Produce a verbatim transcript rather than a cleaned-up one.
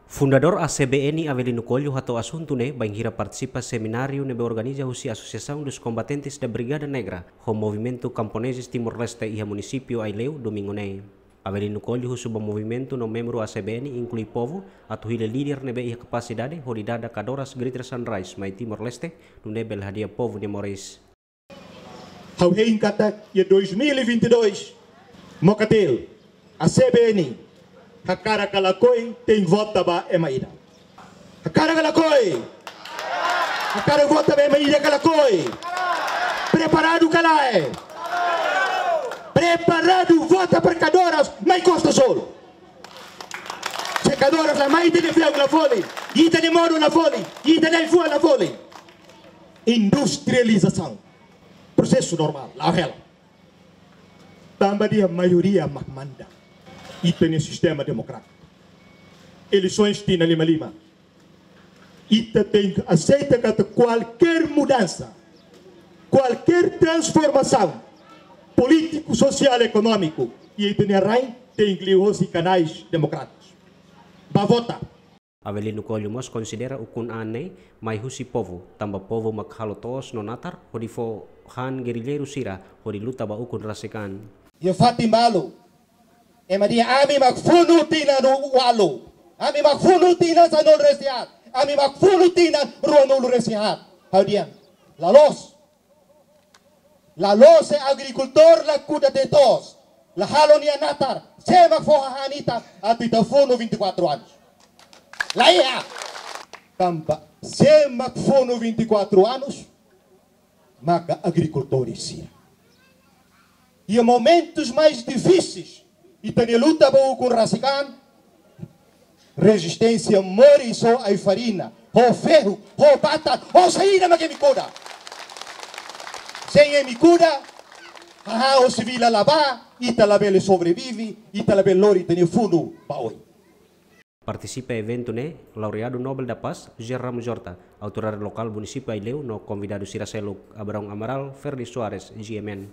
Fundadór A C B N, Avelino Coelho, hato'o asuntu ne'e bainhira partisipa semináriu ne'ebé organiza husi Asociação dos Combatentes da Brigada Negra ho Movimentu Kamponeses Timor-Leste iha munisípiu Aileu, domingu ne'e. Avelino Coelho husu ba movimentu no membru A C B N, inklui povu, atu hili líder ne'ebé iha kapasidade hodi dada kadoras Greater Sunrise mai Timor-Leste, nune'e bele hadi'a povu nia moris. Ha'u hein katak iha dois mil e vinte e dois, Mokatele, A C B N, hakarak ka lakohi, tenke vota ba ema ida. Hakarak ka lakohi? Hakarak vota ba ema ida ka lakohi? Preparadu ka lae? Preparadu vota para kadoras mai Costa Azul. Se kadoras la mai, ita-nia ferik la folin, ita-nia modo la folin, ita-nia fua la folin. Industrializasaun. Prosesu normál, la'o hela. Tanba nia maioria mak manda. Ita-nia sistema demokrátiku. Eleisoens tinan lima lima. Ita tenke aseita katak kualkér mudansa, kualkér transformasaun polítiku, sosiál, ekonómiku, iha ita-nia rain, tenke liuhosi kanais demokrátikus. Ba vota. Avelino Coelho mós konsidera ukun-an ne'e mai husi povu, tanba povu mak halo to'os no natar hodi fó han gerilleiru sira hodi luta ba ukun rasik an. Iha fatin balu, ema dehan ami mak funu tinan ualu, ami mak funu tinan sanulu-resin-haat, ami mak funu tinan ruanulu-resin-haat. Ha'u dehan, la loos. La loos se agrikultór la kuda tiha to'os, la halo nia natar, sé mak fó hahán ita atu ita funu vinte e quatro anos? La iha. Tanba sé mak funu vinte e quatro anos? Maka agrikultór sira. Iha momentus mais difíseis, ita-nia luta ba ukun rasik an, rezisténsia moris ho ai-farina, ho ferru, ho bata, ho saida mak imi kuda. Sein imi kuda, hahán husi vila la bá, ita labele sobrevive, ita labele lori ita-nia funu ba oin. Partisipa eventu ne'e, Laureadu Nobel da Paz, José Ramos Horta, autoridade lokál munisípiu Aileu no konvidadu sira seluk, Abraão Amaral, Ferdi Soares, G M N.